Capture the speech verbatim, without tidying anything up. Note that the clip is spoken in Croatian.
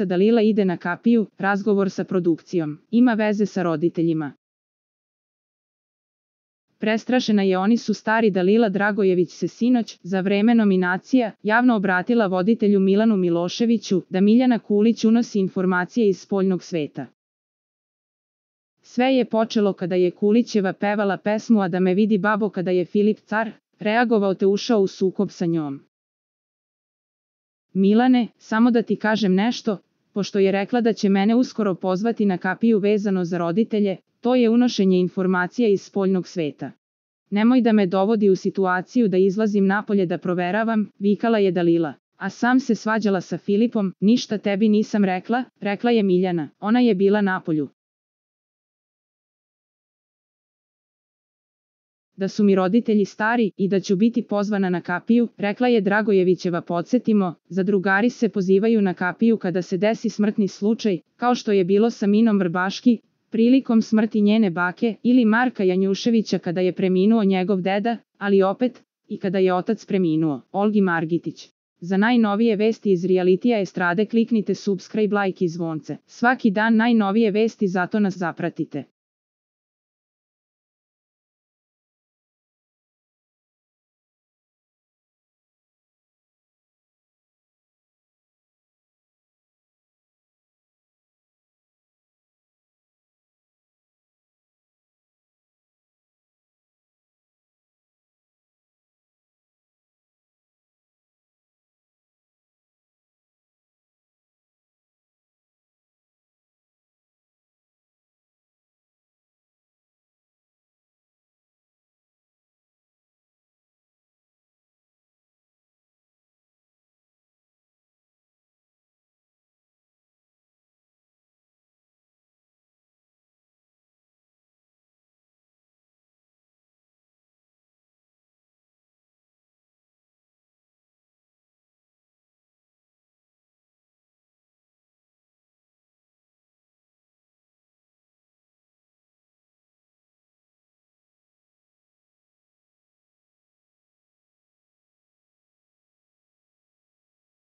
Dalila ide na kapiju, razgovor sa produkcijom. Ima veze sa roditeljima. Prestrašena je oni su stari. Dalila Dragojević se sinoć, za vreme nominacija, javno obratila voditelju Milanu Miloševiću da Miljana Kulić unosi informacije iz spoljnog sveta. Sve je počelo kada je Kulićeva pevala pesmu A da me vidi babo kada je Filip Car reagovao te ušao u sukob sa njom. Milane, samo da ti kažem nešto, pošto je rekla da će mene uskoro pozvati na kapiju vezano za roditelje, to je unošenje informacija iz spoljnog sveta. Nemoj da me dovodi u situaciju da izlazim napolje da proveravam, vikala je Dalila. A sam se svađala sa Filipom, ništa tebi nisam rekla, rekla je Miljana, ona je bila napolju. Da su mi roditelji stari i da ću biti pozvana na kapiju, rekla je Dragojevićeva. Podsjetimo, zadrugari se pozivaju na kapiju kada se desi smrtni slučaj, kao što je bilo sa Minom Vrbaški, prilikom smrti njene bake, ili Marka Janjuševića kada je preminuo njegov deda, ali opet, i kada je otac preminuo, Olgi Margitić. Za najnovije vesti iz realitija estrade kliknite subscribe, like i zvonce. Svaki dan najnovije vesti, zato nas zapratite.